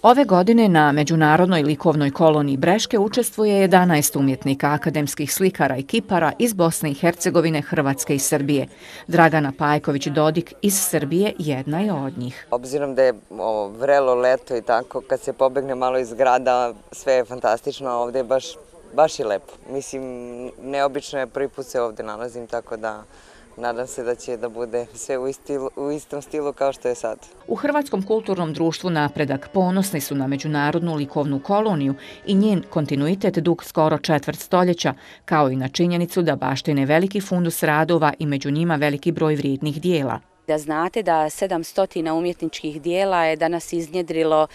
Ove godine na Međunarodnoj likovnoj koloniji Breške učestvuje 11 umjetnika, akademskih slikara i kipara iz Bosne i Hercegovine, Hrvatske i Srbije. Dragana Pajković-Dodik iz Srbije jedna je od njih. Obzirom da je vrelo leto i tako, kad se pobegne malo iz grada, sve je fantastično, a ovdje je baš i lepo. Mislim, neobično je, prvi put se ovdje nalazim, tako da nadam se da će da bude sve u istom stilu kao što je sad. U Hrvatskom kulturnom društvu Napredak ponosni su na Međunarodnu likovnu koloniju i njen kontinuitet dug skoro četvrt stoljeća, kao i na činjenicu da baštine veliki fundus radova i među njima veliki broj vrijednih dijela. Da znate da 700 umjetničkih dijela je danas iznjedrilo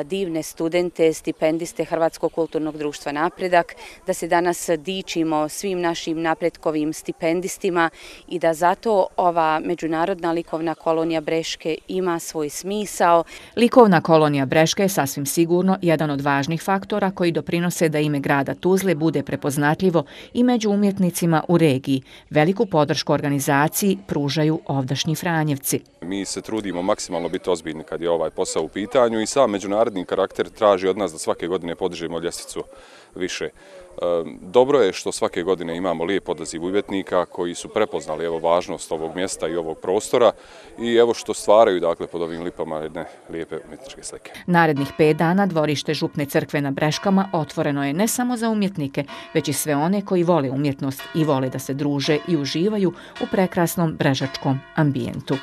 divne studente, stipendiste Hrvatskog kulturnog društva Napredak, da se danas dičimo svim našim napretkovim stipendistima i da zato ova Međunarodna likovna kolonija Breške ima svoj smisao. Likovna kolonija Breške je sasvim sigurno jedan od važnih faktora koji doprinose da ime grada Tuzle bude prepoznatljivo i među umjetnicima u regiji. Veliku podršku organizaciji pružaju ovdašnji Franjevci. Mi se trudimo maksimalno biti ozbiljni kad je ovaj posao u pitanju i sam međunarodni karakter traži od nas da svake godine podižemo ljestvicu više. Dobro je što svake godine imamo lijep odaziv umjetnika koji su prepoznali važnost ovog mjesta i ovog prostora i što stvaraju pod ovim lipama jedne lijepe umjetničke slike. Narednih 5 dana dvorište Župne crkve na Breškama otvoreno je ne samo za umjetnike, već i sve one koji vole umjetnost i vole da se druže i uživaju u prekrasnom brežačkom ambijentu.